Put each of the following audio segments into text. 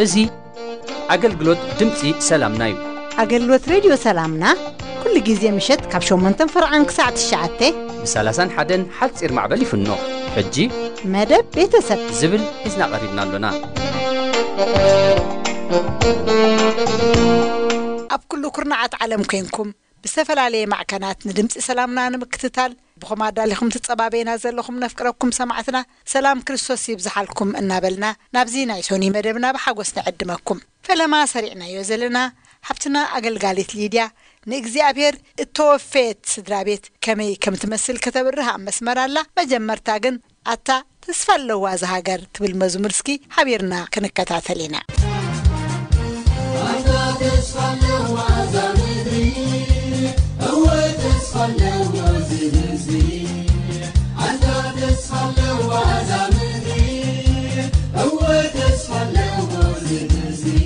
እዚ ኣገልግሎት ድምፂ ሰላምና እዩ። ኣገልግሎት ሬድዮ ሰላምና ኩሉ ግዜ ምሸት ካብ ሸሞንተን ፈርዓን ክሳዕ ትሽዓተ ብ30ን ሓደን ሓፂር ማዕበል ይፍኖ። ሕጂ መደብ ቤተሰብ ዝብል ሒዝና ቀሪብና ኣሎና። ኣብ ኩሉ ኩርናዓት ዓለም ኮይንኩም ብዝተፈላለየ ማዕከናት ንድምፂ ሰላምና ንምክትታል ብኹም ኣዳሊኹም ትጸባበዩና ዘለኹም ነፍቅረኩም ሰማዕትና ሰላም ክርስቶስ ይብዝሓልኩም እናበልና ናብዚ ናይ ሶኒ መደብና ብሓጎስ ንዕድመኩም። ፈለማ ሰሪዕናዮ ዘለና ሓብትና ኣገልጋሊት ሊድያ ንእግዚኣብሔር እተወፈየት ስድራ ቤት ከመይ ከም ትመስል ከተብርህ ኣብ መስመር ኣላ። መጀመርታ ግን ኣታ ተስፋ ኣለዋ እዛ ሃገር ትብል መዝሙር እስኪ ሓቢርና ክንከታተል ኢና። ኣታ ተስፋ ኣለዋ እዛ ምድሪ፣ እወ ተስፋ ኣለዎ እዚ ህዝቢ። ኣታ ተስፋ ኣለዋ እዛ ምድሪ፣ እወ ተስፋ ኣለዎ እዚ ህዝቢ።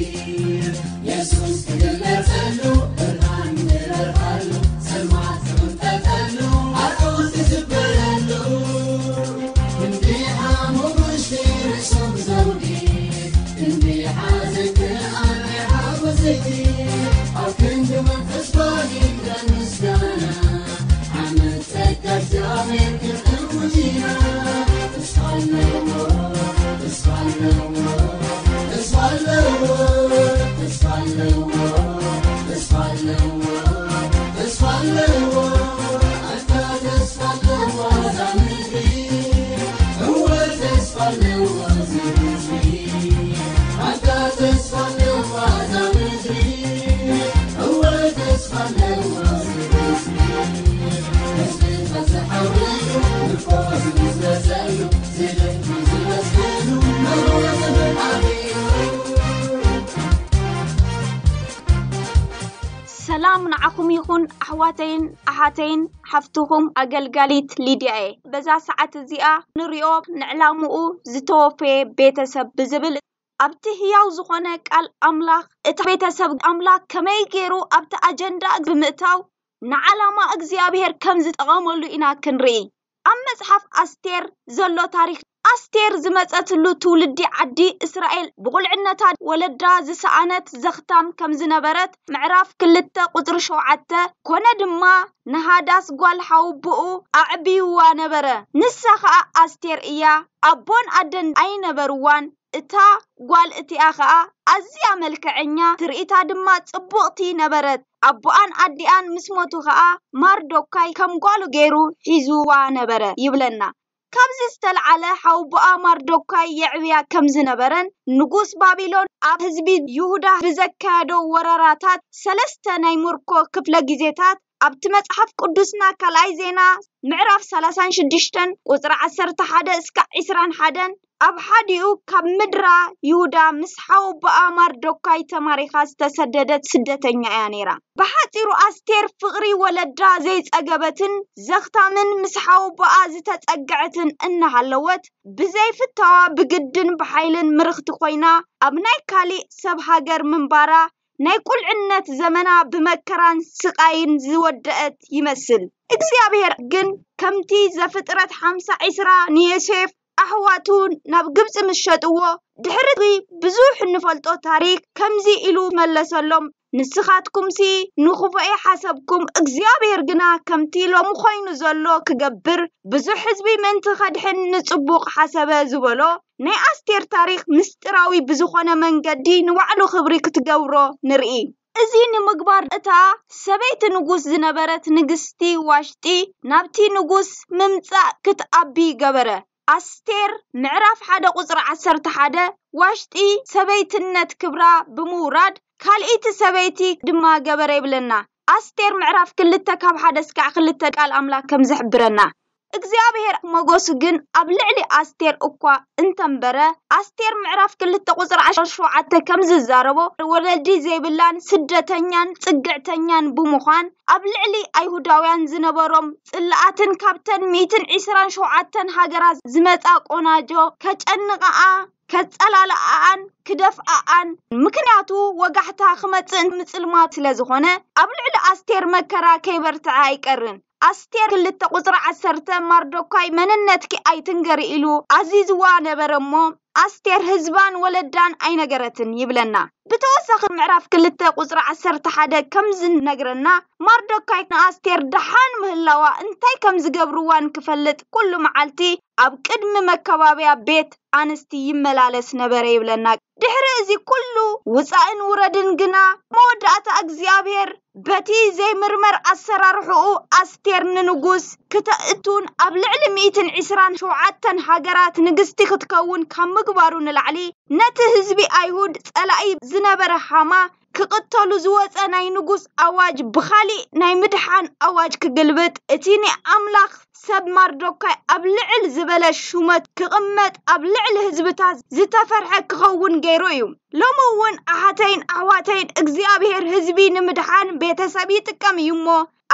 የሱስ ክግለጸሉ፣ ብርሃን ክበርሃሉ፣ ጸልማት ክቕንጠጠሉ፣ ኣርዑት ክዝበረሉ። ክንደይ ሓሙሙሽቲ ርእሶም ዘውዲ፣ ክንደይ ሓዘን ከኣ ናይ ሓጎስ ዘይቲ፣ ኣብ ክንዲ መንፈስ ጓሂ ምስጋና፣ ዓመት ጸጋ እግዚኣብሔር ክንእውጅ ኢና። ተስፋ ኣለዎ፣ ተስፋ ኣለዎ፣ ተስፋ ኣለዎ፣ ተስፋ ኣለዎ፣ ተስፋ ኣለዎ፣ ተስፋ ኣለዎ። ኣታ ተስፋ ኣለዋ እዛ ምድሪ፣ እወ ተስፋ ኣለዎ እዚ ህዝቢ። ኣታ ተስፋ ኣለዋ እዛ ምድሪ፣ እወ ተስፋ ኣለዎ እዚ ህዝቢ። ህዝቢ ተዝሓውዩ፣ ምርኮ ዝብዝበዘሉ፣ ዝደክሙ ዝመስገኑ፣ መርወ ዝብል ኣበዩ። ሰላም ንዓኹም ይኹን ኣሕዋተይን ኣሓተይን፣ ሓፍትኹም ኣገልጋሊት ሊድያ እየ። በዛ ሰዓት እዚኣ ንሪኦ ንዕላምኡ ዝተወፈየ ቤተሰብ ብዝብል ኣብቲ ህያው ዝኾነ ቃል ኣምላኽ፣ እቲ ቤተሰብ ኣምላኽ ከመይ ገይሩ ኣብቲ ኣጀንዳ ብምእታው ንዓላማ እግዚኣብሔር ከም ዝጠቐመሉ ኢና ክንርኢ። ኣብ መጽሓፍ ኣስቴር ዘሎ ታሪኽ፣ ኣስቴር ዝመጸትሉ ትውልዲ ዓዲ እስራኤል፣ ብቑልዕነታ ወለዳ ዝሰኣነት ዘኽታም ከም ዝነበረት፣ ምዕራፍ ክልተ ቁጽሪ ሸውዓተ፣ ኮነ ድማ ንሃዳስ ጓል ሓውብኡ ኣዕብይዋ ነበረ። ንሳ ኸኣ ኣስቴር እያ። ኣቦን ኣደን ኣይነበርዋን። እታ ጓል እቲኣ ኸኣ ኣዝያ መልክዐኛ፣ ትርኢታ ድማ ጽቡቕቲ ነበረት። ኣቦኣን ኣዲኣን ምስ ሞቱ ኸኣ ማርዶካይ ከም ጓሉ ገይሩ ሒዝዋ ነበረ ይብለና። ካብዚ ዝተልዓለ ሓውቦኣ ማርዶካይ የዕብያ ከም ዝነበረን ንጉስ ባቢሎን ኣብ ህዝቢ ይሁዳ ብዘካየዶ ወረራታት ሰለስተ ናይ ምርኮ ክፍለ ግዜታት ኣብቲ መጽሓፍ ቅዱስና ካልኣይ ዜና ምዕራፍ ሰላሳን ሽዱሽተን ቁጽሪ ዓሰርተ ሓደ እስካዕ ዒስራን ሓደን ኣብ ሓዲኡ ካብ ምድራ ይሁዳ ምስ ሓውቦኣ ማርዶካይ ተማሪኻ ዝተሰደደት ስደተኛ እያ ነይራ። ብሓጺሩ ኣስቴር ፍቕሪ ወለዳ ዘይጸገበትን ዘኽታምን ምስ ሓውቦኣ ዝተጸግዐትን እናሃለወት ብዘይፍታዋ ብግድን ብሓይልን ምርኽቲ ኮይና ኣብ ናይ ካሊእ ሰብ ሃገር ምንባራ ናይ ቁልዕነት ዘመና ብመከራን ስቓይን ዝወደአት ይመስል። እግዚኣብሔር ግን ከምቲ ዘፍጥረት ሓምሳ ዒስራ ንዮሴፍ ኣሕዋቱ ናብ ግብጺ ምስ ሸጥዎ ድሕሪ ብዙሕ እንፈልጦ ታሪክ ከምዚ ኢሉ መለሰሎም፣ ንስኻትኩምሲ ንኽፉእ ሓሰብኩም፣ እግዚኣብሔር ግና ከምቲ ሎሚ ኮይኑ ዘሎ ክገብር ብዙሕ ህዝቢ ምእንቲ ከድሕን ንጽቡቕ ሓሰበ ዝበሎ ናይ ኣስቴር ታሪኽ ምስጢራዊ ብዝኾነ መንገዲ ንባዕሉ ክብሪ ክትገብሮ ንርኢ። እዚ ንምግባር እታ ሰበይቲ ንጉስ ዝነበረት ንግስቲ ዋሽጢ ናብቲ ንጉስ ምምጻእ ክትኣቢ ገበረ። ኣስቴር ምዕራፍ ሓደ ቁጽሪ ዓሰርተ ሓደ ዋሽጢ ሰበይትነት ክብራ ብምውራድ ካልኢቲ ሰበይቲ ድማ ገበረ ይብለና። ኣስቴር ምዕራፍ ክልተ ካብ ሓደ እስካዕ ክልተ ቃል ኣምላኽ ከም ዝሕብረና። እግዚኣብሔር ሞገሱ ግን ኣብ ልዕሊ ኣስቴር እኳ እንተንበረ፣ ኣስቴር ምዕራፍ ክልተ ቁፅሪ ዓሰርተ ሸውዓተ ከም ዝዛረቦ፣ ወለዲ ዘይብላን ስደተኛን ጽግዕተኛን ብምዃን ኣብ ልዕሊ ኣይሁዳውያን ዝነበሮም ጽልኣትን ካብተን ሚእትን ዕስራን ሸውዓተን ሃገራት ዝመጻ ቆናጆ ከጨንቐኣ፣ ከጸላልኣኣን ክደፍኣኣን፣ ምክንያቱ ወጋሕታ ክመጽእ ምጽልማት ስለ ዝኾነ፣ ኣብ ልዕሊ ኣስቴር መከራ ከይበርትዐ ኣይቀርን። ኣስቴር ክልተ ቁጽሪ ዓሰርተ፣ ማርዶካይ መንነትኪ ኣይትንገሪ ኢሉ ኣዚዝዋ ነበረ እሞ፣ ኣስቴር ህዝባን ወለዳን ኣይነገረትን ይብለና። ብተወሳኺ ምዕራፍ ክልተ ቁጽሪ ዓሰርተ ሓደ ከም ዝነግረና፣ ማርዶካይ ንኣስቴር ደሓን ምህላዋ እንታይ ከም ዝገብርዋን ክፈልጥ ኩሉ መዓልቲ ኣብ ቅድሚ መከባብያ ቤት ኣንስቲ ይመላለስ ነበረ ይብለና። ድሕሪ እዚ ኩሉ ውጻእን ውረድን ግና መወዳእታ እግዚኣብሔር በቲ ዘይምርመር ኣሰራርሕኡ ኣስቴር ንንጉስ ክተእቱን ኣብ ልዕሊ ሚእትን ዕስራን ሸውዓተን ሃገራት ንግስቲ ክትከውን ካብ ምግባሩ ንላዕሊ ነቲ ህዝቢ ኣይሁድ ጸላኢ ዝነበረ ሃማ ክቕተሉ ዝወጸ ናይ ንጉስ ኣዋጅ ብኻሊእ ናይ ምድሓን ኣዋጅ ክግልብጥ፣ እቲ ናይ ኣምላኽ ሰብ ማርዶካይ ኣብ ልዕል ዝበለ ሹመት ክቕመጥ፣ ኣብ ልዕሊ ህዝብታት ዝተፈርሐ ክኸውን ገይሩ እዩ። ሎሚ እውን ኣሓተይን ኣሕዋተይን እግዚኣብሔር ህዝቢ ንምድሓን ቤተሰብ ይጥቀም እዩ እሞ፣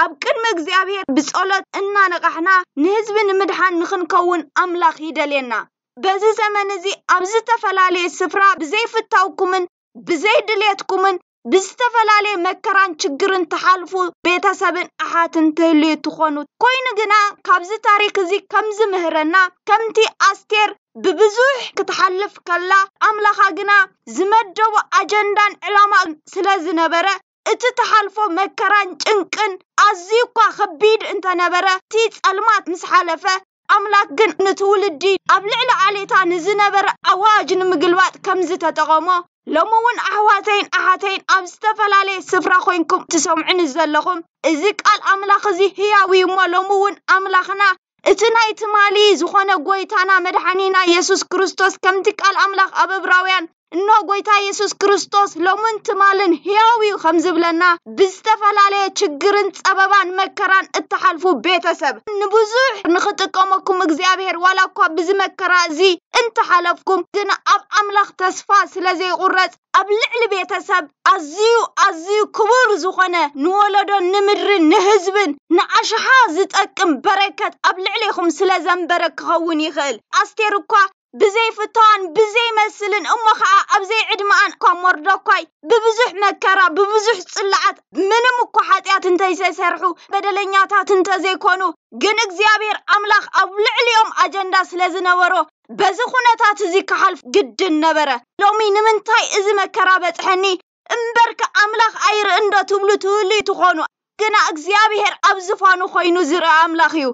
ኣብ ቅድሚ እግዚኣብሔር ብጸሎት እናነቓሕና ንህዝቢ ንምድሓን ንኽንከውን ኣምላኽ ይደልየና። በዚ ዘመን እዚ ኣብ ዝተፈላለየ ስፍራ ብዘይፍታውኩምን ብዘይ ድሌትኩምን ብዝተፈላለየ መከራን ችግርን ትሓልፉ ቤተሰብን ኣሓትን ትህልዩ ትኾኑ። ኮይኑ ግና ካብዚ ታሪክ እዚ ከም ዝምህረና ከምቲ ኣስቴር ብብዙሕ ክትሓልፍ ከላ ኣምላኻ ግና ዝመደቦ ኣጀንዳን ዕላማ ስለ ዝነበረ እቲ ትሓልፎ መከራን ጭንቅን ኣዝዩ እኳ ከቢድ እንተነበረ እቲ ጸልማት ምስ ሓለፈ ኣምላኽ ግን ንትውልዲ ኣብ ልዕሊ ዓሌታ ንዝነበረ ኣዋጅ ንምግልባጥ ከም ዝተጠቐሞ ሎሚ እውን ኣሕዋተይን ኣሓተይን ኣብ ዝተፈላለየ ስፍራ ኮይንኩም ትሰምዑኒ ዘለኹም እዚ ቃል ኣምላኽ እዚ ህያው እዩ እሞ ሎሚ እውን ኣምላኽና እቲ ናይ ትማሊ ዝኾነ ጎይታና መድሓኒና የሱስ ክርስቶስ ከምቲ ቃል ኣምላኽ ኣብ እብራውያን እኖ ጎይታ የሱስ ክርስቶስ ሎምን ትማልን ህያው እዩ ከም ዝብለና ብዝተፈላለየ ችግርን ጸበባን መከራን እትሓልፉ ቤተሰብ ንብዙሕ ንኽጥቀመኩም እግዚኣብሔር ዋላ እኳ ብዚ መከራ እዚ እንተሓለፍኩም ግን ኣብ ኣምላኽ ተስፋ ስለ ዘይቁረጽ ኣብ ልዕሊ ቤተሰብ ኣዝዩ ኣዝዩ ክቡር ዝኾነ ንወለዶን ንምድርን ንህዝብን ንኣሽሓ ዝጠቅም በረከት ኣብ ልዕሌኹም ስለ ዘንበረ ክኸውን ይኽእል ኣስቴር እኳ ብዘይፍታዋን ብዘይመስልን እሞ ኸዓ ኣብ ዘይዕድመኣን እኳ ሞርዶኳይ ብብዙሕ መከራ ብብዙሕ ጽልዓት ምንም እኳ ሓጢኣት እንተይሰሰርሑ በደለኛታት እንተዘይኮኑ ግን እግዚኣብሔር ኣምላኽ ኣብ ልዕሊኦም ኣጀንዳ ስለ ዝነበሮ በዚ ኩነታት እዚ ክሓልፍ ግድን ነበረ። ሎሚ ንምንታይ እዚ መከራ በጽሐኒ እምበርከ ኣምላኽ ኣይርኢ እንዶ ትብሉ ትህልዩ ትኾኑ። ግና እግዚኣብሔር ኣብ ዝፋኑ ኮይኑ ዝርኢ ኣምላኽ እዩ።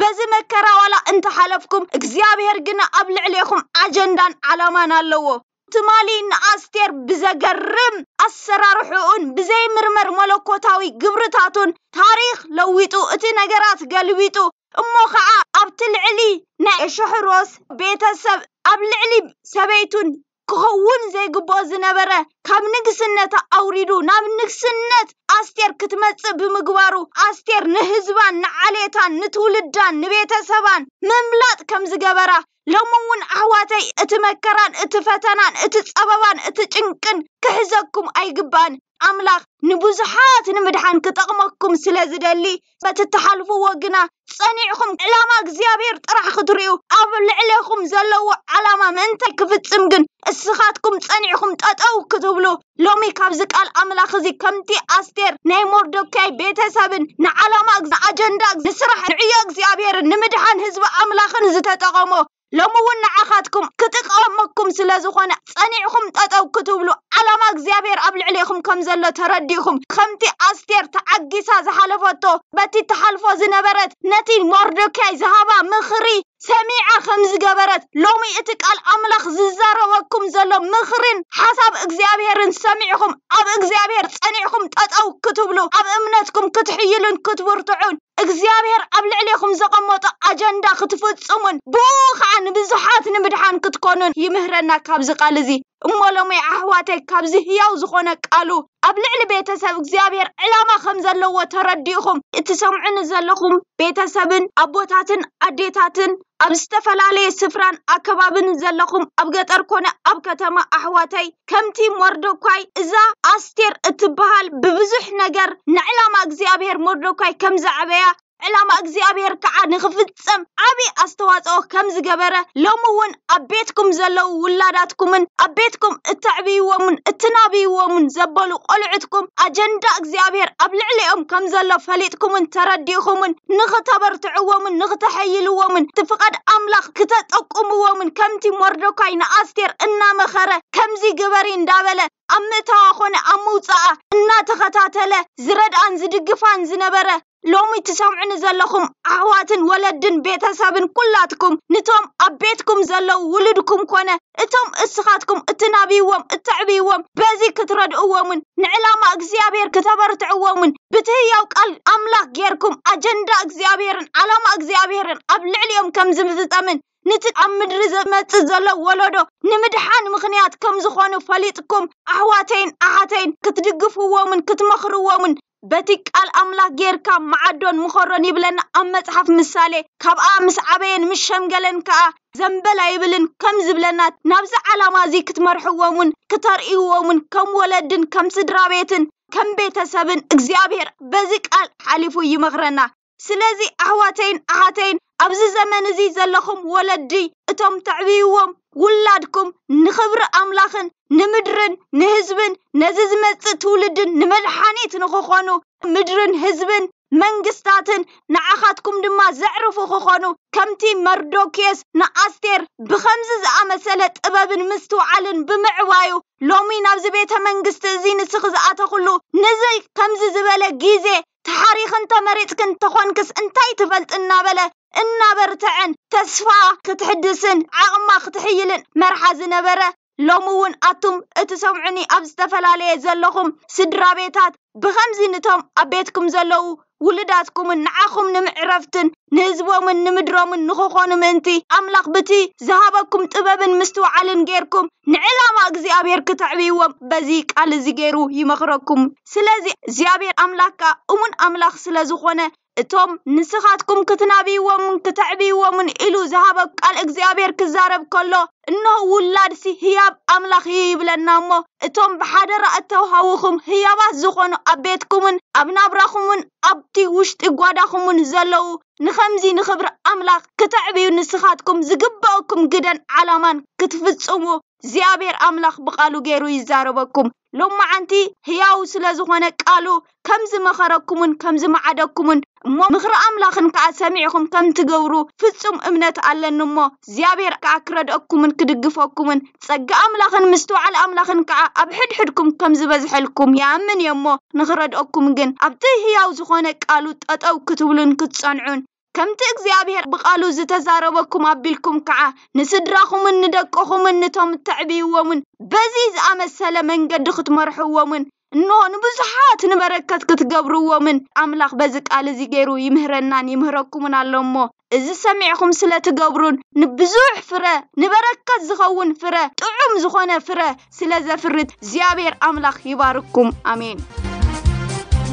በዚ መከራ ዋላ እንተሓለፍኩም እግዚኣብሔር ግና ኣብ ልዕሌኹም ኣጀንዳን ዓላማን ኣለዎ። ትማሊ ንኣስቴር ብዘገርም ኣሰራርሕኡን ብዘይምርመር መለኮታዊ ግብርታቱን ታሪኽ ለዊጡ እቲ ነገራት ገልቢጡ እሞ ኸዓ ኣብቲ ልዕሊ ናይ ኣሽሕሮስ ቤተሰብ ኣብ ልዕሊ ሰበይቱን ክኸውን ዘይግብኦ ዝነበረ ካብ ንግስነታ ኣውሪዱ ናብ ንግስነት ኣስቴር ክትመጽእ ብምግባሩ ኣስቴር ንህዝባን ንዓሌታን ንትውልዳን ንቤተሰባን ምምላጥ ከም ዝገበራ ሎሚ እውን ኣሕዋተይ እቲ መከራን እቲ ፈተናን እቲ ጸበባን እቲ ጭንቅን ክሕዘኩም ኣይግባን። ኣምላኽ ንብዙሓት ንምድሓን ክጠቕመኩም ስለ ዝደሊ በቲ እትሓልፍዎ ግና ጸኒዕኹም ዕላማ እግዚኣብሔር ጥራሕ ክትርእዩ ኣብ ልዕሌኹም ዘለዎ ዓላማ ምእንታይ ክፍጽም ግን እስኻትኩም ጸኒዕኹም ጠጠው ክትብሉ ሎሚ ካብዚ ቃል ኣምላኽ እዚ ከምቲ ኣስቴር ናይ ሞርዶካይ ቤተሰብን ንዓላማ ኣጀንዳ ንስራሕ ንዕዮ እግዚኣብሔርን ንምድሓን ህዝቢ ኣምላኽን ዝተጠቐሞ ሎሚ እውን ንዓኻትኩም ክጥቀመኩም ስለ ዝኾነ ጸኒዕኹም ጠጠው ክትብሉ ዓላማ እግዚኣብሔር ኣብ ልዕሌኹም ከም ዘሎ ተረዲእኹም ከምቲ ኣስቴር ተዓጊሳ ዝሓለፈቶ በቲ ትሓልፎ ዝነበረት ነቲ ሞርዶካይ ዝሃባ ምኽሪ ሰሚዓ ከም ዝገበረት ሎሚ እቲ ቃል ኣምላኽ ዝዛረበኩም ዘሎ ምኽርን ሓሳብ እግዚኣብሔርን ሰሚዕኹም ኣብ እግዚኣብሔር ጸኒዕኹም ጠጠው ክትብሉ ኣብ እምነትኩም ክትሕይሉን ክትብርትዑን እግዚኣብሔር ኣብ ልዕሌኹም ዘቐመጦ ኣጀንዳ ክትፍጽሙን ብኡ ኸዓ ንብዙሓት ንምድሓን ክትኮኑን ይምህረና ካብዚ ቃል እዚ። እሞ ሎሚ ኣሕዋተይ፣ ካብዚ ህያው ዝኾነ ቃሉ ኣብ ልዕሊ ቤተሰብ እግዚኣብሔር ዕላማ ከም ዘለዎ ተረዲእኹም እትሰምዑኒ ዘለኹም ቤተሰብን ኣቦታትን ኣዴታትን ኣብ ዝተፈላለየ ስፍራን ኣከባብን ዘለኹም ኣብ ገጠር ኮነ ኣብ ከተማ ኣሕዋተይ፣ ከምቲ ሞርዶኳይ እዛ ኣስቴር እትበሃል ብብዙሕ ነገር ንዕላማ እግዚኣብሔር ሞርዶኳይ ከም ዘዕበያ ዕላማ እግዚኣብሔር ከዓ ንኽፍጸም ዓቢ ኣስተዋጽኦ ከም ዝገበረ፣ ሎሚ እውን ኣብ ቤትኩም ዘለዉ ውላዳትኩምን ኣብ ቤትኩም እተዕብይዎምን እትናብይዎምን ዘበሉ ቆልዑትኩም ኣጀንዳ እግዚኣብሔር ኣብ ልዕሊኦም ከም ዘሎ ፈሊጥኩምን ተረዲእኹምን ንኽተበርትዕዎምን ንኽተሐይልዎምን እቲ ፍቓድ ኣምላኽ ክተጠቁምዎምን ከምቲ ሞርዶካይ ንኣስቴር እናመኸረ ከምዚ ግበሪ እንዳበለ ኣብ ምእታዋ ኾነ ኣብ ምውፃኣ እናተኸታተለ ዝረድኣን ዝድግፋን ዝነበረ ሎሚ ትሰምዑኒ ዘለኹም ኣሕዋትን ወለድን ቤተሰብን ኩላትኩም ንቶም ኣብ ቤትኩም ዘለዉ ውሉድኩም ኮነ እቶም እስኻትኩም እትናብይዎም እተዕብይዎም በዚ ክትረድእዎምን ንዕላማ እግዚኣብሔር ክተበርትዕዎምን ብትህያው ቃል ኣምላኽ ጌርኩም ኣጀንዳ እግዚኣብሔርን ዓላማ እግዚኣብሔርን ኣብ ልዕሊኦም ከም ዝፍጸምን ንቲ ኣብ ምድሪ ዝመጽእ ዘሎ ወለዶ ንምድሓን ምኽንያት ከም ዝኾኑ ፈሊጥኩም ኣሕዋተይን ኣሓተይን ክትድግፍዎምን ክትመኽርዎምን በቲ ቃል ኣምላኽ ጌርካ መዓዶን ምኸሮን ይብለና ኣብ መጽሓፍ ምሳሌ። ካብኣ ምስ ዓበየን ምስ ሸምገለን ከኣ ዘንበል ኣይብልን ከም ዝብለና ናብዚ ዓላማ እዚ ክትመርሕዎም እውን ክተርእይዎም እውን ከም ወለድን ከም ስድራ ቤትን ከም ቤተሰብን እግዚኣብሔር በዚ ቃል ሓሊፉ ይመኽረና። ስለዚ ኣሕዋተይን ኣሓተይን ኣብዚ ዘመን እዚ ዘለኹም ወለዲ እቶም ተዕብይዎም ውላድኩም ንኽብሪ ኣምላኽን ንምድርን ንህዝብን ነዚ ዝመጽእ ትውልድን ንመድሓኒት ንኽኾኑ ምድርን ህዝብን መንግስታትን ንዓኻትኩም ድማ ዘዕርፉ ክኾኑ ከምቲ መርዶክዮስ ንኣስቴር ብኸምዚ ዝኣመሰለ ጥበብን ምስትውዓልን ብምዕባዩ ሎሚ ናብዚ ቤተ መንግስቲ እዚ ንስኺ ዝኣተኽሉ ነዚ ከምዚ ዝበለ ግዜ ተሓሪኽን ተመሪጽክን ተኾንክስ እንታይ ትፈልጥ እናበለ እናበርትዐን ተስፋ ክትሕድስን ዓቕማ ክትሕይልን መርሓ ዝነበረ ሎሚ እውን ኣቱም እትሰምዑኒ ኣብ ዝተፈላለየ ዘለኹም ስድራ ቤታት ብኸምዚ ንቶም ኣብ ቤትኩም ዘለዉ ውሉዳትኩምን ንዓኹም ንምዕረፍትን ንህዝቦምን ንምድሮምን ንኽኾኑ ምእንቲ ኣምላኽ ብቲ ዝሃበኩም ጥበብን ምስትውዓልን ጌርኩም ንዕላማ እግዚኣብሔር ክተዕብይዎም በዚ ቃል እዚ ገይሩ ይመኽረኩም። ስለዚ እግዚኣብሔር ኣምላኽ ከኣ እሙን ኣምላኽ ስለ ዝኾነ እቶም ንስኻትኩም ክትናብይዎምን ክተዕብይዎምን ኢሉ ዝሃበ ቃል እግዚኣብሔር ክዛረብ ከሎ እንሆ ውላድሲ ህያብ ኣምላኽ እዩ ይብለና እሞ እቶም ብሓደራ እተውሃውኹም ህያባት ዝኾኑ ኣብ ቤትኩምን ኣብ ናብራኹምን ኣብቲ ውሽጢ ጓዳኹምን ዘለዉ ንኸምዚ ንኽብሪ ኣምላኽ ክተዕብዩ ንስኻትኩም ዝግበእኩም ግደን ዓላማን ክትፍጽሙ እግዚኣብሔር ኣምላኽ ብቓሉ ገይሩ ይዛረበኩም። ሎማዓንቲ ህያው ስለ ዝኾነ ቃሉ ከም ዝመኸረኩምን ከም ዝመዓደኩምን እሞ ምኽሪ ኣምላኽን ከኣ ሰሚዕኹም ከም ትገብሩ ፍጹም እምነት ኣለኒ እሞ እግዚኣብሔር ከኣ ክረድአኩምን ክድግፈኩምን ጸጋ ኣምላኽን ምስትውዓል ኣምላኽን ከኣ ኣብ ሕድሕድኩም ከም ዝበዝሐልኩም ይኣምን እየ እሞ ንኽረድአኩም ግን ኣብቲ ህያው ዝኾነ ቃሉ ጠጠው ክትብሉን ክትጸንዑን ከምቲ እግዚኣብሔር ብቓሉ ዝተዛረበኩም ኣቢልኩም ከዓ ንስድራኹምን ንደቅኹምን ንቶም እተዕብይዎምን በዚ ዝኣመሰለ መንገዲ ክትመርሕዎምን እንሆ ንብዙሓት ንበረከት ክትገብርዎምን ኣምላኽ በዚ ቃል እዚ ገይሩ ይምህረናን ይምህረኩምን ኣሎ እሞ እዚ ሰሚዕኹም ስለ ትገብሩን ንብዙሕ ፍረ ንበረከት ዝኸውን ፍረ ጥዑም ዝኾነ ፍረ ስለ ዘፍርት እግዚኣብሔር ኣምላኽ ይባርኩም። ኣሜን።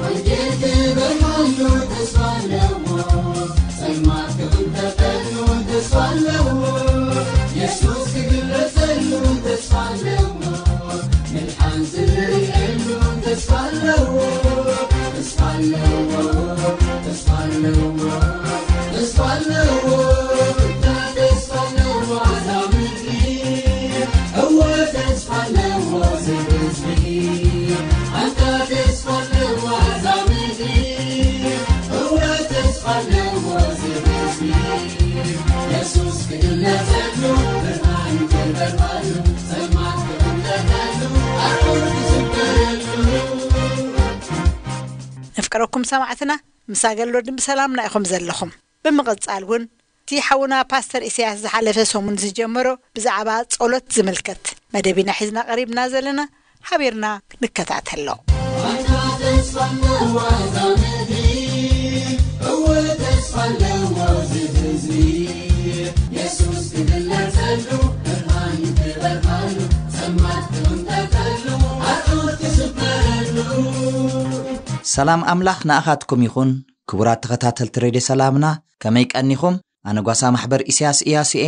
ወንጌል ክበርሃሉ ተስፋ ኣለዎ። ጸልማት ክቕንጠጠሉ ተስፋ ኣለዎ። የሱስ ክግለጸሉ ተስፋ ኣለዎ። ምድሓን ዝርእየሉ ተስፋ ኣለዎ። ተስፋ ኣለዎ። ተስፋ ኣለዎ። ተስፋ ኣለዎ። ተስፋ ኣለዎ። እወ ተስፋ ኣለዎ እዚ ህዝቢ። ኣንታ ተስፋ ኣለዋ እዛ ምድሪ። እወ ተስፋ ኣለዎ እዚ ህዝቢ። የሱስ ክግለጸሉ፣ ብርሃን ክበርሃሉ፣ ጸልማት ክቕንጠጠሉ፣ ኣርዑት ክስበረሉ። ነፍቀረኩም ሰማዕትና፣ ምስ ኣገልግሎት ብሰላምና ኢኹም ዘለኹም። ብምቕጻል እውን እቲ ሓውና ፓስተር ኢሳያስ ዝሓለፈ ሰሙን ዝጀመሮ ብዛዕባ ጸሎት ዝምልከት መደብ ኢና ሒዝና ቀሪብና ዘለና፣ ሓቢርና ንከታተሎ። ኣንታ ተስፋ ኣለዋ እዛ ምድሪ፣ እወ ተስፋ ኣለዎ እዚ ህዝቢ። የሱስ ክግለጸሉ፣ ብርሃን ክበርሃሉ፣ ጸልማት ሰላም ኣምላኽ ንኣኻትኩም ይኹን። ክቡራት ተኸታተልቲ ሬድዮ ሰላምና፣ ከመይ ቀኒኹም? ኣነ ጓሳ ማሕበር ኢሳያስ ኢያሱ እየ።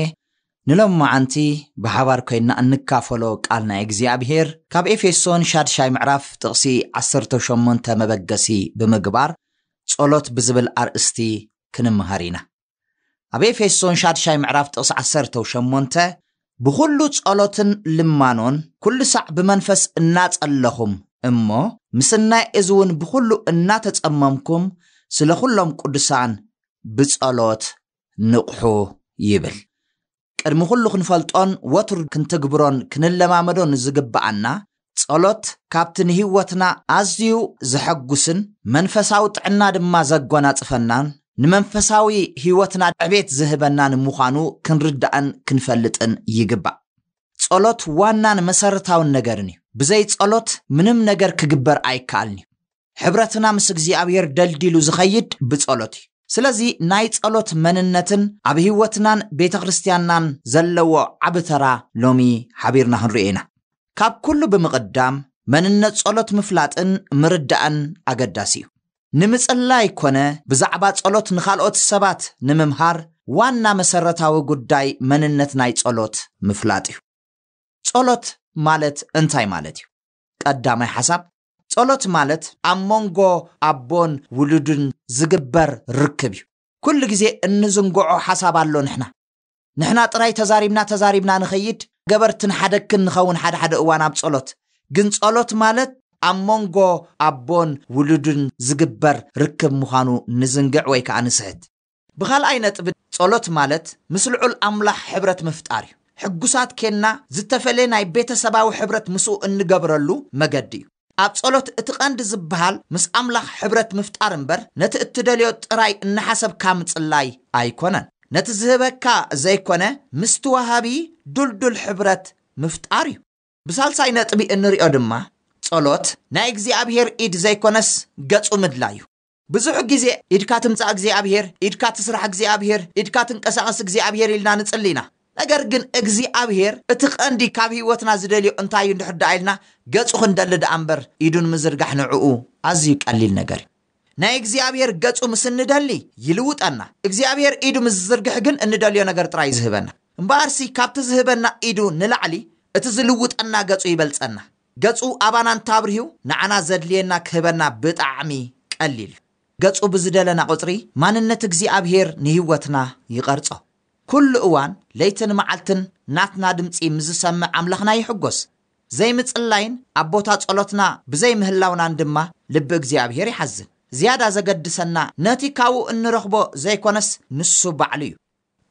ንሎሚ መዓንቲ ብሓባር ኮይንና እንካፈሎ ቃል ናይ እግዚኣብሔር ካብ ኤፌሶን ሻድሻይ ምዕራፍ ጥቕሲ ዓሰርተ ሸሞንተ መበገሲ ብምግባር ጸሎት ብዝብል ኣርእስቲ ክንምሃር ኢና። ኣብ ኤፌሶን ሻድሻይ ምዕራፍ ጥቕሲ ዓሰርተ ሸሞንተ፣ "ብኹሉ ጸሎትን ልማኖን ኩሉ ሳዕ ብመንፈስ እናጸለኹም እሞ ምስናይ እዚ እውን ብኹሉ እናተጸመምኩም ስለ ኩሎም ቅዱሳን ብጸሎት ንቕሑ" ይብል። ቅድሚ ኩሉ ክንፈልጦን ወትሩ ክንትግብሮን ክንለማመዶን ዝግብኣና፣ ጸሎት ካብቲ ንህይወትና ኣዝዩ ዘሐጉስን መንፈሳዊ ጥዕና ድማ ዘጎናጽፈናን ንመንፈሳዊ ህይወትና ዕቤት ዝህበናን ምዃኑ ክንርዳእን ክንፈልጥን ይግባእ። ጸሎት ዋናን መሰረታውን ነገርን እዩ። ብዘይ ጸሎት ምንም ነገር ክግበር ኣይከኣልን እዩ። ሕብረትና ምስ እግዚኣብሔር ደልዲሉ ዝኸይድ ብጸሎት እዩ። ስለዚ ናይ ጸሎት መንነትን ኣብ ህይወትናን ቤተ ክርስቲያንናን ዘለዎ ዓቢ ተራ ሎሚ ሓቢርና ክንርእዮ ኢና። ካብ ኩሉ ብምቕዳም መንነት ጸሎት ምፍላጥን ምርዳእን ኣገዳሲ እዩ። ንምጽላይ ኮነ ብዛዕባ ጸሎት ንኻልኦት ሰባት ንምምሃር ዋና መሰረታዊ ጉዳይ መንነት ናይ ጸሎት ምፍላጥ እዩ። ጸሎት ማለት እንታይ ማለት እዩ? ቀዳማይ ሓሳብ፣ ጸሎት ማለት ኣብ መንጎ ኣቦን ውሉድን ዝግበር ርክብ እዩ። ኩሉ ግዜ እንዝንግዖ ሓሳብ ኣሎ። ንሕና ንሕና ጥራይ ተዛሪብና ተዛሪብና ንኸይድ፣ ገበርትን ሓደግትን ንኸውን ሓደ ሓደ እዋን ኣብ ጸሎት። ግን ጸሎት ማለት ኣብ መንጎ ኣቦን ውሉድን ዝግበር ርክብ ምዃኑ ንዝንግዕ ወይ ከኣ ንስሕት። ብኻልኣይ ነጥቢ፣ ጸሎት ማለት ምስ ልዑል ኣምላኽ ሕብረት ምፍጣር እዩ። ሕጉሳት ኬንና ዝተፈለየ ናይ ቤተሰባዊ ሕብረት ምስኡ እንገብረሉ መገዲ እዩ። ኣብ ጸሎት እቲ ቀንዲ ዝበሃል ምስ ኣምላኽ ሕብረት ምፍጣር እምበር ነቲ እትደልዮ ጥራይ እናሓሰብካ ምጽላይ ኣይኮነን። ነቲ ዝህበካ ዘይኮነ ምስቲ ወሃቢ ዱልዱል ሕብረት ምፍጣር እዩ። ብሳልሳይ ነጥቢ እንሪኦ ድማ ጸሎት ናይ እግዚኣብሔር ኢድ ዘይኮነስ ገጹ ምድላይ እዩ። ብዙሕ ግዜ ኢድካ ትምጻእ እግዚኣብሔር፣ ኢድካ ትስራሕ እግዚኣብሔር፣ ኢድካ ትንቀሳቐስ እግዚኣብሔር ኢልና ንጽሊ ኢና። ነገር ግን እግዚኣብሔር እቲ ቀንዲ ካብ ህይወትና ዝደልዮ እንታይ እዩ እንድሕር ደኣ ኢልና ገጹ ክንደሊ ደኣ እምበር ኢዱ ንምዝርጋሕ ንዕኡ ኣዝዩ ቀሊል ነገር እዩ። ናይ እግዚኣብሔር ገጹ ምስ እንደሊ ይልውጠና። እግዚኣብሔር ኢዱ ምስ ዝዝርግሕ ግን እንደልዮ ነገር ጥራይ እዩ ዝህበና። እምበኣርሲ ካብቲ ዝህበና ኢዱ ንላዕሊ እቲ ዝልውጠና ገጹ ይበልጸና። ገጹ ኣባና እንታብርሂው ንዓና ዘድልየና ክህበና ብጣዕሚ ቀሊል እዩ። ገጹ ብዝደለና ቁጽሪ ማንነት እግዚኣብሔር ንህይወትና ይቐርጾ። ኩሉ እዋን ለይትን መዓልትን ናትና ድምጺ ምስ ዝሰምዕ ኣምላኽና ይሕጎስ። ዘይምጽላይን ኣብ ቦታ ጸሎትና ብዘይምህላውናን ድማ ልቢ እግዚኣብሔር ይሓዝን። ዝያዳ ዘገድሰና ነቲ ካብኡ እንረኽቦ ዘይኮነስ ንሱ ባዕሉ እዩ።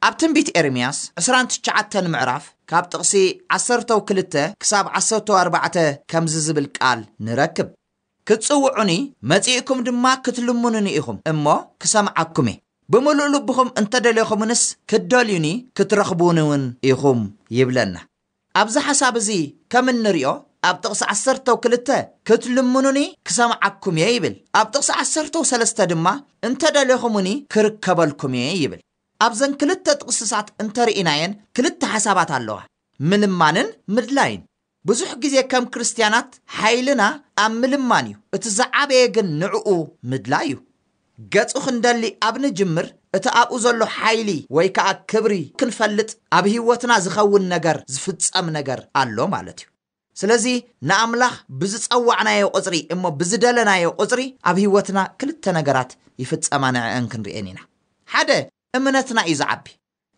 ኣብ ትንቢት ኤርምያስ ዕስራን ትሽዓተን ምዕራፍ ካብ ጥቕሲ ዓሰርተው ክልተ ክሳብ ዓሰርተው ኣርባዕተ ከምዚ ዝብል ቃል ንረክብ። "ክትጽውዑኒ መጺእኩም ድማ ክትልምኑኒ ኢኹም እሞ ክሰምዓኩም እየ። ብምሉእ ልብኹም እንተደለኹምንስ ክትደልዩኒ ክትረኽቡኒ እውን ኢኹም" ይብለና። ኣብዚ ሓሳብ እዚ ከም እንሪኦ ኣብ ጥቕሲ ዓሰርተው ክልተ "ክትልምኑኒ ክሰምዓኩም እየ" ይብል። ኣብ ጥቕሲ ዓሰርተው ሰለስተ ድማ "እንተደለኹምኒ ክርከበልኩም እየ" ይብል። ኣብዘን ክልተ ጥቕስታት እንተርኢናየን ክልተ ሓሳባት ኣለዋ፣ ምልማንን ምድላይን። ብዙሕ ግዜ ከም ክርስትያናት ሓይልና ኣብ ምልማን እዩ፣ እቲ ዝዓበየ ግን ንዕኡ ምድላይ እዩ። ገጹ ክንደሊ ኣብ ንጅምር እቲ ኣብኡ ዘሎ ሓይሊ ወይ ከኣ ክብሪ ክንፈልጥ ኣብ ህይወትና ዝኸውን ነገር ዝፍጸም ነገር ኣሎ ማለት እዩ። ስለዚ ንኣምላኽ ብዝጸዋዕናዮ ቁጽሪ እሞ ብዝደለናዮ ቁጽሪ ኣብ ህይወትና ክልተ ነገራት ይፍጸማ ንዕአን ክንርእየን ኢና። ሓደ እምነትና እዩ ዝዓቢ።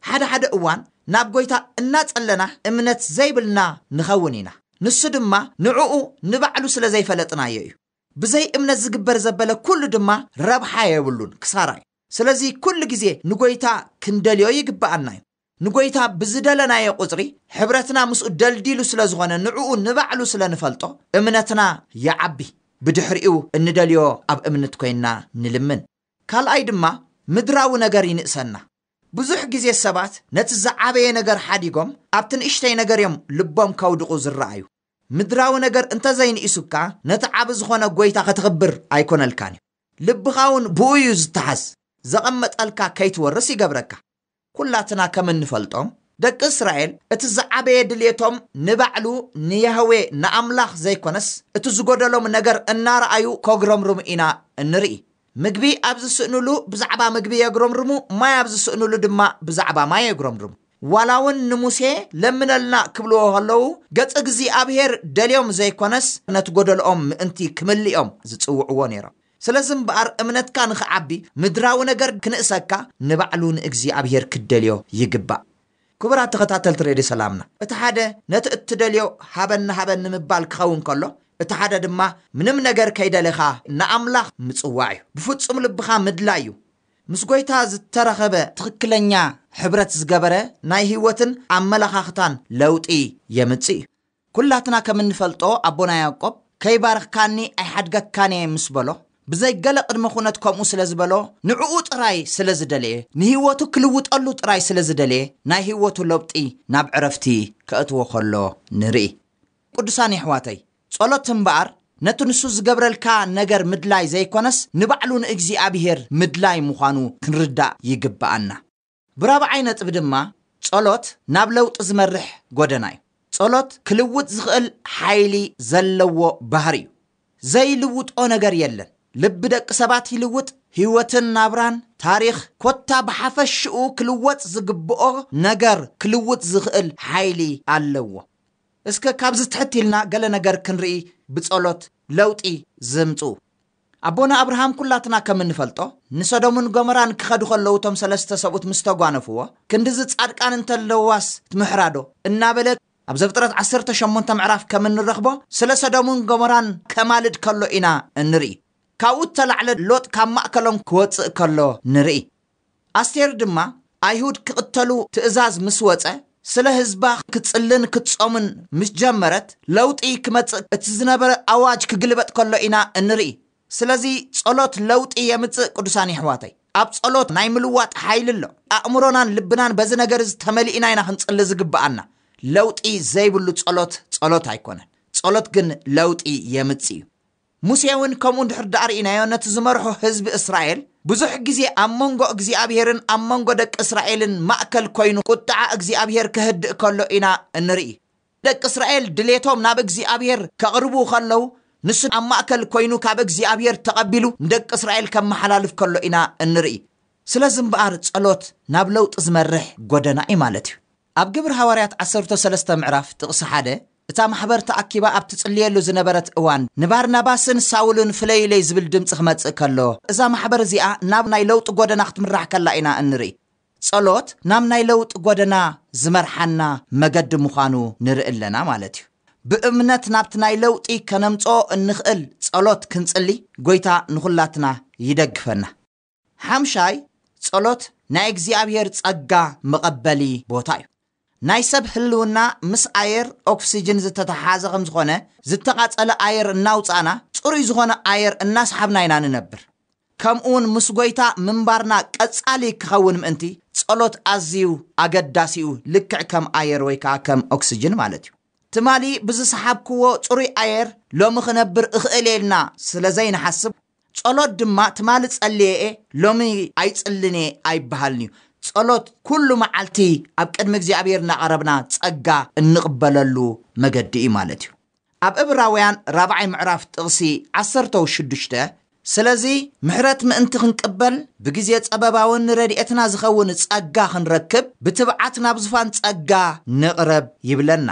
ሓደ ሓደ እዋን ናብ ጎይታ እናጸለና እምነት ዘይብልና ንኸውን ኢና። ንሱ ድማ ንዕኡ ንባዕሉ ስለ ዘይፈለጥናዮ እዩ። ብዘይ እምነት ዝግበር ዘበለ ኩሉ ድማ ረብሓ የብሉን፣ ክሳራ እዩ። ስለዚ ኩሉ ግዜ ንጎይታ ክንደልዮ ይግብኣና እዩ። ንጎይታ ብዝደለናዮ ቁጽሪ ሕብረትና ምስኡ ደልዲሉ ስለ ዝኾነ ንዕኡ ንባዕሉ ስለ ንፈልጦ እምነትና ይዓቢ። ብድሕሪኡ እንደልዮ ኣብ እምነት ኮይንና ንልምን። ካልኣይ ድማ ምድራዊ ነገር ይንእሰና። ብዙሕ ግዜ ሰባት ነቲ ዝዓበየ ነገር ሓዲጎም ኣብቲ ንእሽተይ ነገር እዮም ልቦም ከውድቑ ዝረኣዩ። ምድራዊ ነገር እንተዘይንኢሱካ ነቲ ዓቢ ዝኾነ ጎይታ ከተኽብር ኣይኮነልካን እዩ። ልብኻ እውን ብኡ እዩ ዝተሓዝ። ዘቐመጠልካ ከይትወርስ ይገብረካ። ኩላትና ከም እንፈልጦ ደቂ እስራኤል እቲ ዝዓበየ ድልየቶም ንባዕሉ ንያህዌ ንኣምላኽ ዘይኮነስ እቲ ዝጎደሎም ነገር እናረኣዩ ከጉረምርሙ ኢና እንርኢ። ምግቢ ኣብ ዝስእንሉ ብዛዕባ ምግቢ የጉረምርሙ፣ ማይ ኣብ ዝስእንሉ ድማ ብዛዕባ ማይ የጉረምርሙ። ዋላ እውን ንሙሴ ለምነልና ክብልዎ ከለዉ ገጽ እግዚኣብሔር ደልዮም ዘይኮነስ ነቲ ጎደልኦም ምእንቲ ክምልኦም ዝጽውዕዎ ነይሮም። ስለዚ እምበኣር እምነትካ ንኽዓቢ ምድራዊ ነገር ክንእሰካ ንባዕሉ ንእግዚኣብሔር ክትደልዮ ይግባእ። ክቡራት ተኸታተልቲ ሬድዮ ሰላምና፣ እቲ ሓደ ነቲ እትደልዮ ሃበኒ ሃበኒ ምባል ክኸውን ከሎ፣ እቲ ሓደ ድማ ምንም ነገር ከይደለኻ ንኣምላኽ ምጽዋዕ እዩ። ብፍጹም ልብኻ ምድላይ እዩ። ምስ ጎይታ ዝተረኸበ ትኽክለኛ ሕብረት ዝገበረ ናይ ህይወትን ኣመለኻኽታን ለውጢ የምጽእ እዩ። ኩላትና ከም እንፈልጦ ኣቦና ያዕቆብ ከይባርኽካኒ ኣይሓድገካን እየ ምስ በሎ፣ ብዘይ ገለ ቅድመ ኩነት ከምኡ ስለ ዝበሎ፣ ንዕኡ ጥራይ ስለ ዝደለየ፣ ንህይወቱ ክልውጠሉ ጥራይ ስለ ዝደለየ፣ ናይ ህይወቱ ለውጢ ናብ ዕረፍቲ ከእትዎ ከሎ ንርኢ። ቅዱሳን የሕዋተይ፣ ጸሎት እምበኣር ነቲ ንሱ ዝገብረልካ ነገር ምድላይ ዘይኮነስ ንባዕሉ ንእግዚኣብሔር ምድላይ ምዃኑ ክንርዳእ ይግብኣና። ብራብዓይ ነጥቢ ድማ ጸሎት ናብ ለውጢ ዝመርሕ ጎደና እዩ። ጸሎት ክልውጥ ዝኽእል ሓይሊ ዘለዎ ባህሪ እዩ። ዘይልውጦ ነገር የለን። ልቢ ደቂ ሰባት ይልውጥ፣ ህይወትን ናብራን፣ ታሪኽ፣ ኮታ ብሓፈሽኡ ክልወጥ ዝግብኦ ነገር ክልውጥ ዝኽእል ሓይሊ ኣለዎ። እስከ ካብዚ ትሕት ኢልና ገለ ነገር ክንርኢ ብጸሎት ለውጢ ዝምጽኡ። ኣቦና ኣብርሃም ኩላትና ከም እንፈልጦ ንሰዶምን ጎመራን ክኸዱ ከለዉ እቶም ሰለስተ ሰብኡት ምስ ተጓነፍዎ፣ ክንድዚ ጻድቃን እንተለዋስ ትምሕራዶ እናበለ ኣብ ዘፍጥረት ዓሰርተ ሸሞንተ ምዕራፍ ከም እንረኽቦ ስለ ሰዶምን ጎመራን ከማልድ ከሎ ኢና እንርኢ። ካብኡ እተላዕለ ሎጥ ካብ ማእከሎም ክወጽእ ከሎ ንርኢ። ኣስቴር ድማ ኣይሁድ ክቕተሉ ትእዛዝ ምስ ወጸ፣ ስለ ህዝባ ክትጽልን ክትጾምን ምስ ጀመረት ለውጢ ክመጽእ እቲ ዝነበረ ኣዋጅ ክግልበጥ ከሎ ኢና እንርኢ። ስለዚ ጸሎት ለውጢ የምጽእ። ቅዱሳን የሕዋተይ፣ ኣብ ጸሎት ናይ ምልዋጥ ሓይሊ ኣሎ። ኣእምሮናን ልብናን በዚ ነገር እዚ ተመሊእና ኢና ክንጽሊ ዝግብኣና። ለውጢ ዘይብሉ ጸሎት ጸሎት ኣይኮነን። ጸሎት ግን ለውጢ የምጽእ እዩ። ሙሴ እውን ከምኡ እንድሕር ደኣ ርኢናዮ፣ ነቲ ዝመርሖ ህዝቢ እስራኤል ብዙሕ ግዜ ኣብ መንጎ እግዚኣብሔርን ኣብ መንጎ ደቂ እስራኤልን ማእከል ኮይኑ ቁጥዓ እግዚኣብሔር ክህድእ ከሎ ኢና እንርኢ። ደቂ እስራኤል ድሌቶም ናብ እግዚኣብሔር ከቕርቡ ከለዉ ንሱ ኣብ ማእከል ኮይኑ ካብ እግዚኣብሔር ተቐቢሉ ንደቂ እስራኤል ከመሓላልፍ ከሎ ኢና እንርኢ። ስለዚ እምበኣር ጸሎት ናብ ለውጢ ዝመርሕ ጎደና እዩ ማለት እዩ። ኣብ ግብሪ ሃዋርያት ዓሰርተ ሰለስተ ምዕራፍ ጥቕሲ ሓደ፣ እታ ማሕበር ተኣኪባ ኣብ ትጽልየሉ ዝነበረት እዋን ንባርናባስን ሳውልን ፍለዩለይ ዝብል ድምጺ ክመጽእ ከሎ፣ እዛ ማሕበር እዚኣ ናብ ናይ ለውጢ ጎደና ክትምራሕ ከላ ኢና እንርኢ። ጸሎት ናብ ናይ ለውጢ ጎደና ዝመርሓና መገዲ ምዃኑ ንርኢ ኣለና ማለት እዩ። ብእምነት ናብቲ ናይ ለውጢ ከነምጽኦ እንኽእል ጸሎት ክንጽሊ ጎይታ ንኹላትና ይደግፈና። ሓምሻይ፣ ጸሎት ናይ እግዚኣብሔር ጸጋ መቐበሊ ቦታ እዩ። ናይ ሰብ ህልውና ምስ ኣየር ኦክሲጅን ዝተተሓሓዘ ከም ዝኾነ፣ ዝተቓጸለ ኣየር እናውጻእና ጽሩይ ዝኾነ ኣየር እናሰሓብና ኢና ንነብር። ከምኡ እውን ምስ ጎይታ ምንባርና ቀጻሊ ክኸውን ምእንቲ ጸሎት ኣዝዩ ኣገዳሲ እዩ፣ ልክዕ ከም ኣየር ወይ ከኣ ከም ኦክሲጅን ማለት እዩ። ትማሊ ብዝሰሓብክዎ ጽሩይ ኣየር ሎሚ ክነብር እኽእል እየ ኢልና ስለ ዘይንሓስብ፣ ጸሎት ድማ ትማሊ ጸልየ እየ፣ ሎሚ ኣይጽልን እየ ኣይበሃልን እዩ። ጸሎት ኩሉ መዓልቲ ኣብ ቅድሚ እግዚኣብሔር እናቐረብና ጸጋ እንቕበለሉ መገዲ እዩ ማለት እዩ። ኣብ ዕብራውያን ራብዓይ ምዕራፍ ጥቕሲ ዓሰርተ ሽዱሽተ፣ ስለዚ ምሕረት ምእንቲ ክንቅበል ብግዜ ጸበባውን ንረድኤትና ዝኸውን ጸጋ ክንረክብ ብትብዓት ናብ ዝፋን ጸጋ ንቕረብ ይብለና።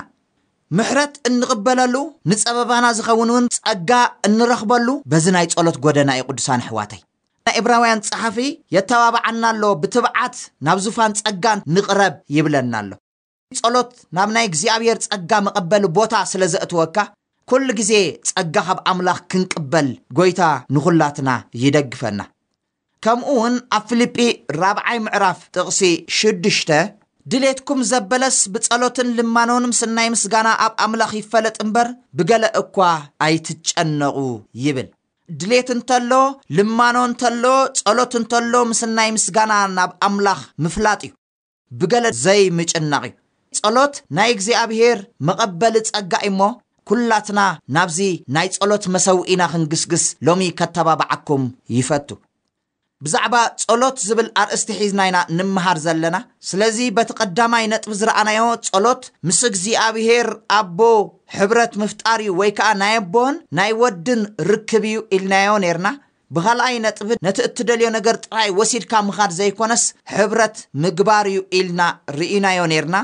ምሕረት እንቕበለሉ ንጸበባና ዝኸውን እውን ጸጋ እንረኽበሉ በዚ ናይ ጸሎት ጎደና እዩ። ቅዱሳን ኣሕዋተይ፣ ናይ ዕብራውያን ጸሓፊ የተባብዓና ኣሎ፣ ብትብዓት ናብ ዙፋን ጸጋ ንቕረብ ይብለና ኣሎ። ጸሎት ናብ ናይ እግዚኣብሔር ጸጋ መቐበሊ ቦታ ስለ ዘእትወካ፣ ኩሉ ግዜ ጸጋ ካብ ኣምላኽ ክንቅበል ጎይታ ንኹላትና ይደግፈና። ከምኡ እውን ኣብ ፊልጲ ራብዓይ ምዕራፍ ጥቕሲ ሽዱሽተ፣ ድሌትኩም ዘበለስ ብጸሎትን ልማኖን ምስ ናይ ምስጋና ኣብ ኣምላኽ ይፈለጥ እምበር፣ ብገለ እኳ ኣይትጨነቑ ይብል። ድሌት እንተሎ፣ ልማኖ እንተሎ፣ ጸሎት እንተሎ፣ ምስ ናይ ምስጋና ናብ ኣምላኽ ምፍላጥ እዩ። ብገለ ዘይምጭናቕ እዩ። ጸሎት ናይ እግዚኣብሔር መቐበሊ ጸጋ እዩ እሞ፣ ኩላትና ናብዚ ናይ ጸሎት መሰውኢና ክንግስግስ ሎሚ ከተባብዓኩም ይፈቱ። ብዛዕባ ጸሎት ዝብል ኣርእስቲ ሒዝና ኢና ንምሃር ዘለና። ስለዚ በቲ ቀዳማይ ነጥቢ ዝረኣናዮ ጸሎት ምስ እግዚኣብሔር ኣቦ ሕብረት ምፍጣር እዩ፣ ወይ ከኣ ናይ ኣቦን ናይ ወድን ርክብ እዩ ኢልናዮ ነርና። ብኻልኣይ ነጥቢ ነቲ እትደልዮ ነገር ጥራይ ወሲድካ ምኻድ ዘይኮነስ ሕብረት ምግባር እዩ ኢልና ርኢናዮ ነርና።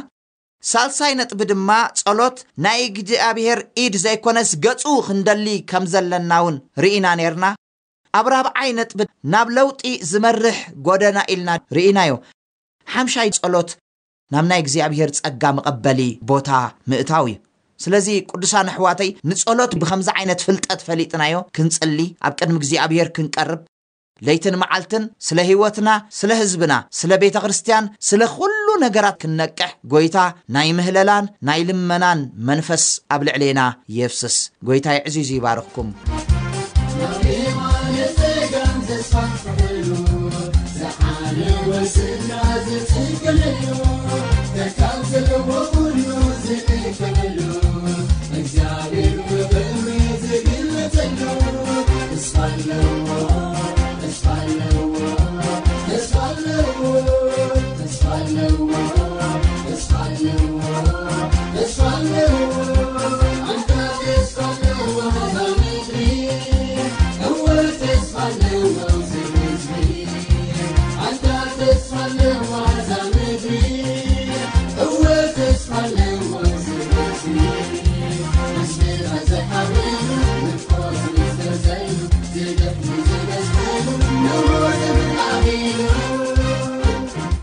ሳልሳይ ነጥቢ ድማ ጸሎት ናይ እግዚኣብሔር ኢድ ዘይኮነስ ገጹ ክንደሊ ከም ዘለና እውን ርኢና ነርና። ኣብ ራብዓይ ነጥቢ ናብ ለውጢ ዝመርሕ ጎደና ኢልና ርኢናዮ። ሓምሻይ ጸሎት ናብ ናይ እግዚኣብሔር ጸጋ መቐበሊ ቦታ ምእታው እዩ። ስለዚ ቅዱሳን ኣሕዋተይ፣ ንጸሎት ብኸምዚ ዓይነት ፍልጠት ፈሊጥናዮ ክንጽሊ፣ ኣብ ቅድሚ እግዚኣብሔር ክንቀርብ፣ ለይትን መዓልትን ስለ ህይወትና፣ ስለ ህዝብና፣ ስለ ቤተ ክርስቲያን፣ ስለ ኩሉ ነገራት ክንነቅሕ ጎይታ ናይ ምህለላን ናይ ልመናን መንፈስ ኣብ ልዕሌና የፍስስ። ጎይታ ይዕዚዙ ይባርኽኩም።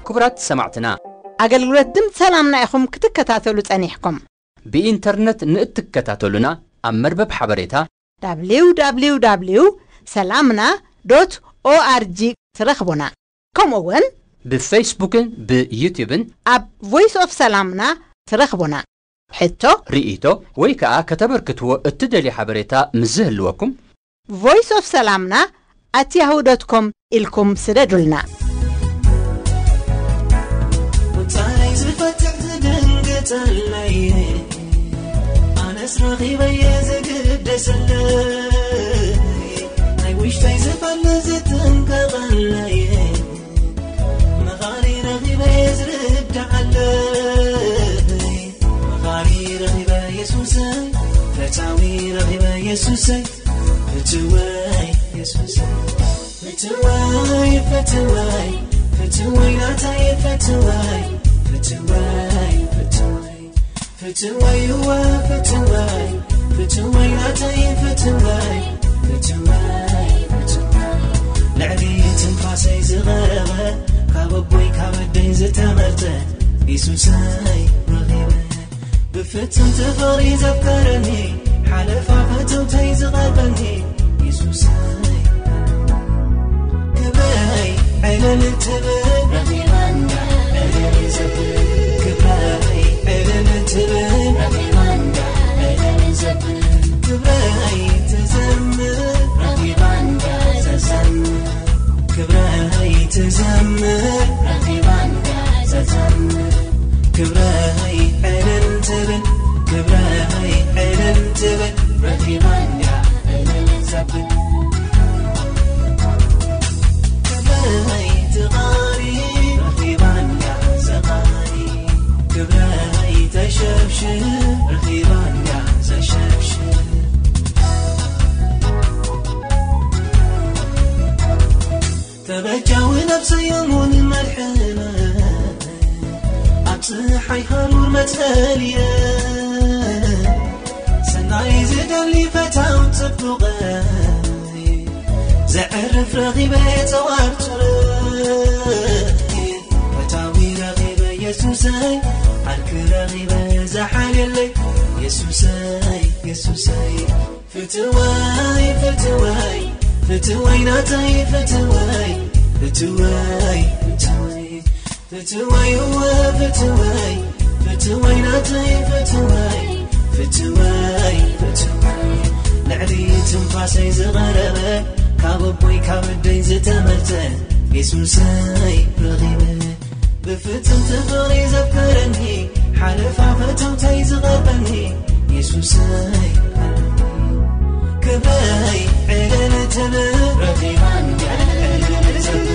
ክቡራት ሰማዕትና፣ ኣገልግሎት ድምፂ ሰላምና ኢኹም ክትከታተሉ ጸኒሕኩም። ብኢንተርነት ንእትከታተሉና፣ ኣብ መርበብ ሓበሬታ www ሰላምና .org ትረኽቡና። ከምኡ እውን ብፌስቡክን ብዩቲዩብን ኣብ ቮይስ ኦፍ ሰላምና ትረኽቡና። ሕቶ፣ ርእይቶ ወይ ከኣ ከተበርክትዎ እትደልዩ ሓበሬታ ምስ ዝህልወኩም፣ ቮይስ ኦፍ ሰላምና ኣት ያሁ ዶት ኮም ኢልኩም ስደዱልና። ቁጻይ ዝፈትሕ ዝድንግጸለይ፣ ኣነስ ረኺበየ ዝግደሰለይ፣ ናይ ውሽጠይ ዝፈልጥ ዝጥንቀቐለይ፣ መኻሪ ረኺበየ ዝርድዓለይ፣ መኻሪ ረኺበ የሱሰይ፣ ፈታዊ ረኺበ የሱሰይ፣ ፍትወይ የሱሰይ፣ ፍትወይ፣ ፍትወይ፣ ፍትወይ ናተይ፣ ፍትወይ፣ ፍትወይ፣ ፍትወይ፣ ፍትወይ፣ እወ፣ ፍትወይ፣ ፍትወይ ናተይ፣ ፍትወይ፣ ፍትወይ፣ ፍትወይ፣ ልዕሊ ትንፋሰይ ዝቐረበ፣ ካብ ኣቦይ ካብ ኣደይ ዝተመርጸ፣ የሱሰይ ረኺበ። ብፍጽምቲ ፍቕሪ ዘፍቀረኒ፣ ሓለፋ ፈተውተይ ዝቐርበኒ፣ የሱሰይ። ክብረይ ዕልል ትብል፣ ረኺባና ዕልል ዘብል። ክብረይ ዕልል ትብል፣ ረኺባና ዕልል ዘብል። ክብረይ ትዘምር፣ ረኺባና ዘዘምር። ክብረይ ትዘምር፣ ረኺባና ዘዘምር። ክብረይ ዕልል ትብል፣ ክብረይ ዕልል ትብል፣ ረኺባና ዕልል ዘብል። ክብረይ ትቓሪ፣ ረኺባና ዘቓሪ። ክብረይ ተሸብሽብ፣ ረኺባና ዘሸብሽብ። ተበጃዊ ነብሰይ እሙን መድሕነ፣ ኣብ ጽሓይ ሃሩር መጽለልየ፣ ሰናይ ዝደሊ ፈታው ጽቡቐይ፣ ዘዕርፍ ረኺበ ጸዋር ጹረይ፣ ፈታዊ ረኺበ የሱሰይ፣ ዓርኪ ረኺበ ዝሓልየለይ፣ የሱሰይ፣ የሱሰይ። ፍትወይ ፍትወይ ፍትወይ ናተይ ፍትወይ ፍትወይ ፍትወይ ፍትወይ እወ ፍትወይ ፍትወይ ናተይ ፍትወይ ፍትወይ ፍትወይ ልዕሊ ትንፋሰይ ዝቐረበ ካብ ኣቦይ ካብ ኣደይ ዝተመርጸ የሱሰይ ረኺበ ብፍጽምቲ ፍቕሪ ዘፍቀረኒ ሓለፋ ፈተውተይ ዝቐርበኒ የሱሰይ ክብረይ ዕልል ትብል ረኺባኒ ዕልል ትብል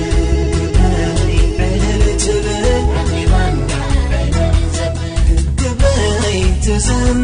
ሰላም